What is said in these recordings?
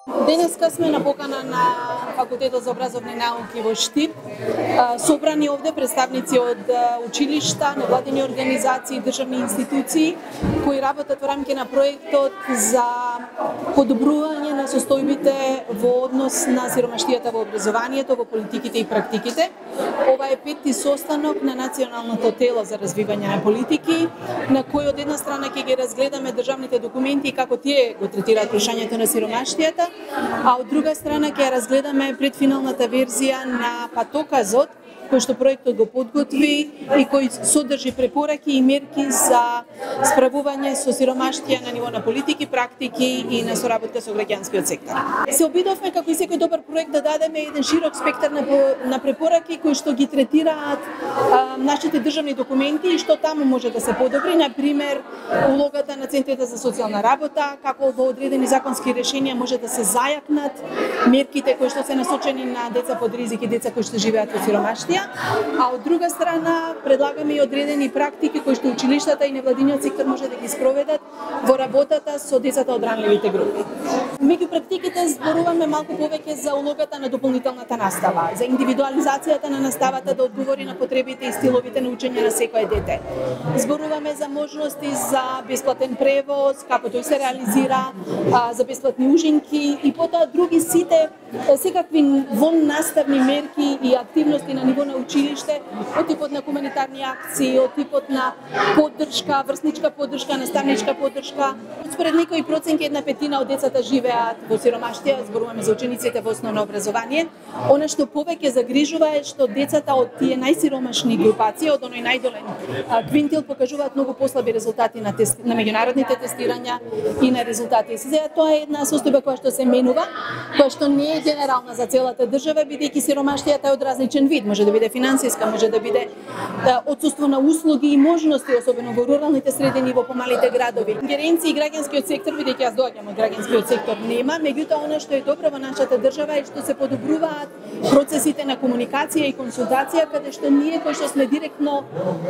Денеска сме на покана на Факултетот за образовни науки во Штип. Собрани овде представници од училишта, невладини организации, државни институции кои работат во рамки на проектот за подобрување на состојбите во однос на сиромаштијата во образованието, во политиките и практиките. Ова е петти состанок на Националното тело за развивање на политики, на кој од една страна ќе ги разгледаме државните документи и како тие го третираат прашањето на сиромаштијата, а од друга страна ќе разгледаме предфиналната верзија на патоказот кој што проектот го подготви и кој содржи препораки и мерки за справување со сиромаштија на ниво на политики, практики и на соработка со граѓанскиот сектор. Се обидовме како и секој добар проект да дадеме еден широк спектар на препораки кои што ги третираат нашите државни документи и што таму може да се подобри, на пример улогата на центрите за социјална работа, како во одредени законски решенија може да се зајакнат мерките кои што се насочени на деца под ризик и деца кои што живеат во сиромаштија. А од друга страна предлагаме и одредени практики кои што училиштата и невладиниот сектор може да ги спроведат во работата со децата од ранливите групи. Меѓу практиките зборуваме малку повеќе за улогата на дополнителната настава, за индивидуализацијата на наставата да одговори на потребите и стиловите на учење на секое дете. Зборуваме за можности за бесплатен превоз, како тој се реализира, за бесплатни ужинки и потоа други сите секакви воннаставни мерки и активности на ниво на училиште, од типот на хуманитарни акции, од типот на поддршка, врсничка поддршка, наставничка поддршка. Според некои проценки 1/5 од децата живеат во сиромаштија, зборуваме за учениците во основно образование. Она што повеќе загрижува е што децата од тие најсиромашни групации, од оној најдолен квинтил, покажуваат многу послаби резултати на меѓународните тестирања и на резултати. Сега тоа е една состојба која што се менува, која што не е генерална за целата држава, бидејќи сиромаштијата е од различен вид, може да биде финансиска, може да биде отсуство на услуги и можности, особено во руралните средини, во помалите градови. Ингеренции и граѓанскиот сектор, бидејќи јас доаѓам од граѓанскиот сектор, нема, меѓутоа она што е добро во нашата држава е што се подобруваат процесите на комуникација и консултација, каде што ние кои што сме директно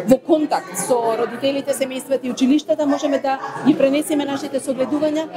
во контакт со родителите, семејствата и училиштата можеме да ги пренесеме нашите согледувања